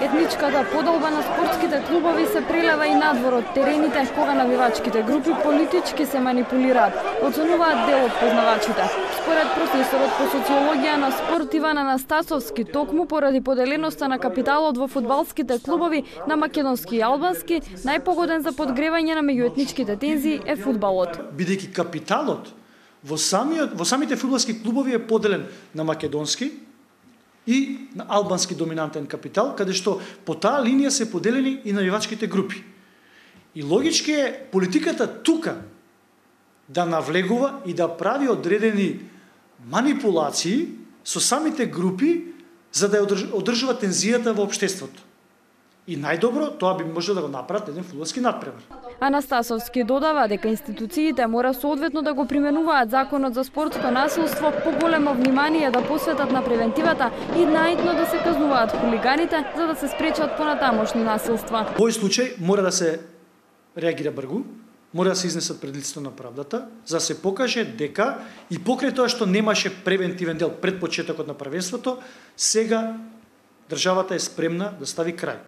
Етничката подолба на спортските клубови се прелева и надвор од терените, кога навивачките групи политички се манипулираат, оценуваат дел од познавачите. Според професорот по социологија на спорт Иван Анастасовски, токму поради поделеноста на капиталот во фудбалските клубови на македонски и албански, најпогоден за подгревање на меѓуетничките тензии е фудбалот. Бидејќи капиталот во самите фудбалски клубови е поделен на македонски и на албански доминантен капитал, каде што по таа линија се поделени и навивачките групи. И логички е политиката тука да навлегува и да прави одредени манипулации со самите групи за да одржува тензијата во општеството. И најдобро тоа би може да го направат еден фудбалски надпревар. Анастасовски додава дека институциите мора соодветно да го применуваат законот за спортско насилство, поголемо внимание да посветат на превентивата и наидно да се казнуваат хулиганите за да се спречат понатамошни насилства. Во овој случај мора да се реагира бргу, мора да се изнесат пред лицето на правдата, за да се покаже дека и покрај тоа што немаше превентивен дел пред почетокот на првенството, сега државата е спремна да стави крај.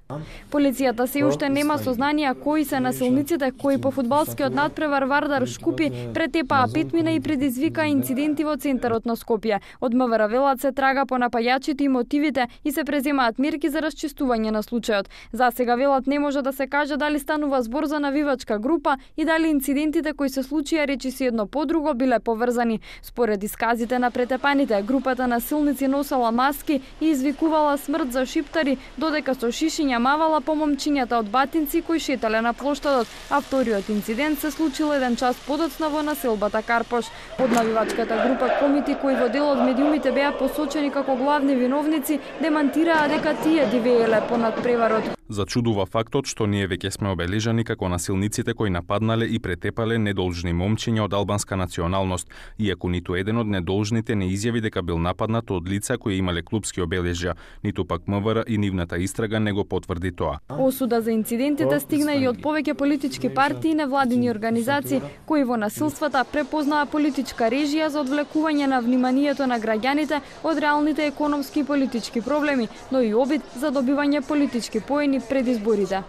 Полицијата се уште нема сознанија кои се насилниците кои по фудбалскиот надпревар Вардар Шкупи претепаа Петмина и предизвика инциденти во центарот на Скопје. Од МВР велат се трага по напајачите и мотивите и се преземаат мерки за расчистување на случајот. За сега велат не може да се каже дали станува збор за навивачка група и дали инцидентите кои се случија речиси едно по друго биле поврзани. Според исказите на претепаните, групата насилници носела маски и извикувала смрт за шиптари, додека со шишиња мавала по момчињата од Батинци кои шетале на плоштадот, а вториот инцидент се случил 1 час подоцна во населбата Карпош. Од навивачката група комити кои во дел од медиумите беа посочени како главни виновници, демантираа дека тие дивееле по надпреварот. Зачудува фактот што ние веќе сме обележани како насилниците кои нападнале и претепале недолжни момчиња од албанска националност, иако ниту еден од недолжните не изјави дека бил нападнат од лица кои имале клупски обележја, ниту пак МВР и нивната истрага не го потврди тоа. Осуда за инцидентите стигна и од повеќе политички партии и невладини организации кои во насилствата препознаа политичка режија за одвлекување на вниманието на граѓаните од реалните економски и политички проблеми, но и обид за добивање политички поени пред изборите.